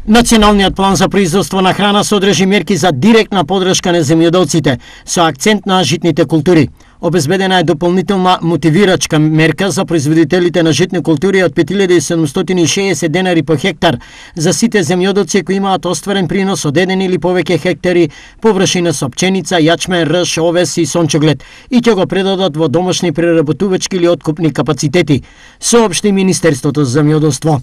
Националниот план за производство на храна содржи мерки за директна поддршка на земјоделците, со акцент на житните култури. Обезбедена е дополнителна мотивирачка мерка за производителите на житни култури од 5760 денари по хектар за сите земјоделци кои имаат остварен принос од 1 или повеќе хектари површина со пченица, јачмен, рж, овес и сончоглед и ќе го предадат во домашни преработувачки или откупни капацитети, соопшти Министерството за земјоделство.